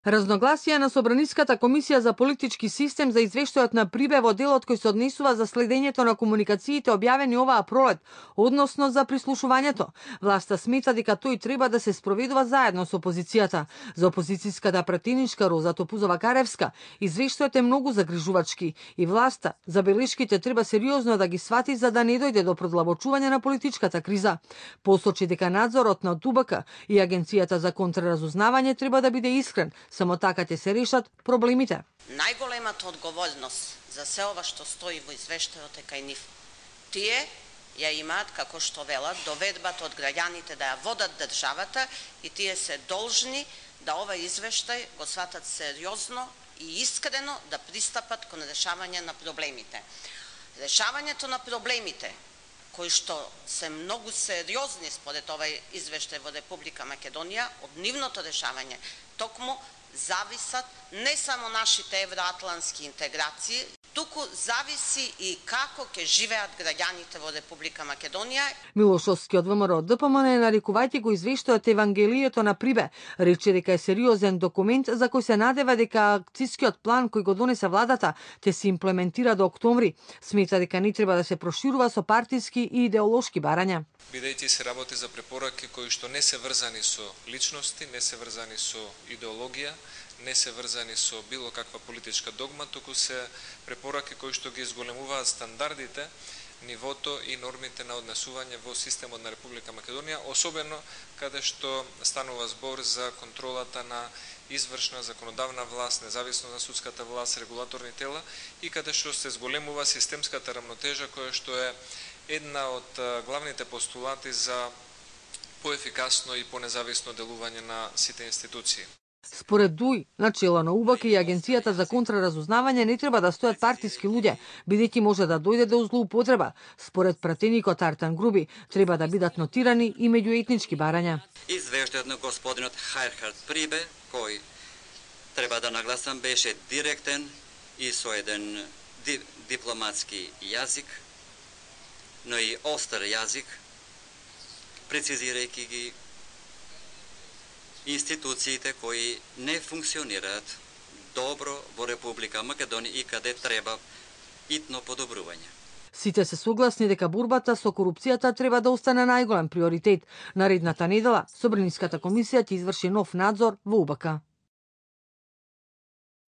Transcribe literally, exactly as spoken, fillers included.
Разногласие на Собраниската комисија за политички систем за извештајот на Прибе во делот кој се однесува за следењето на комуникациите објавени оваа пролет, односно за прислушувањето. Власта смета дека тој треба да се спроведува заедно со опозицијата. За опозицијската пратеничка Роза Топузова-Каревска, извештајот е многу загрижувачки и власта забелешките треба сериозно да ги свати за да не дојде до продлабочување на политичката криза. Посочи дека надзорот на УБК и Агенцијата за контраразузнавање треба да биде искрен. Само така ќе се решат проблемите. Најголемата одговорност за се ова што стои во извештајот е кај нив. Тие ја имаат, како што велат, доведбата од граѓаните да ја водат државата и тие се должни да ова извештај го сватат сериозно и искрено да пристапат кон решавање на проблемите. Решавањето на проблемите кои што се многу сериозни според овај извештај во Република Македонија, од нивното решавање токму зависат не само нашите евроатлантски интеграции, туку зависи и како ќе живеат граѓаните во Република Македонија. Милошовски од ВМРО Д П М Н, нарекувајќи го извештајот Евангелието на Прибе, рече дека е сериозен документ за кој се надева дека акцискиот план кој го донесе владата ќе се имплементира до октомври. Смета дека не треба да се проширува со партиски и идеолошки барања. Бидејќи се работи за препораки кои што не се врзани со личности, не се врзани со идеологија, не се врзани со било каква политичка догма, туку се препораки кои што ги изголемуваат стандардите, нивото и нормите на однесување во системот на Република Македонија, особено каде што станува збор за контролата на извршна законодавна власт, независно на судската власт, регулаторни тела и каде што се зголемува системската рамнотежа која што е една од главните постулати за поефикасно и понезависно делување на сите институции. Според ДУИ, начело на УБК и Агенцијата за контраразузнавање не треба да стојат партиски луѓе, бидејќи може да дојде до злоупотреба. Според пратеникот Артан Груби, треба да бидат нотирани и меѓуетнички барања. Извештајот на господинот Хайрхард Прибе, кој треба да нагласам беше директен и со еден ди, дипломатски јазик, но и остар јазик, прецизирајќи ги институциите кои не функционираат добро во Република Македонија и каде треба итно подобрување. Сите се согласни дека борбата со корупцијата треба да остане најголем приоритет. Наредната недела Собраниската комисија ќе изврши нов надзор во УБК.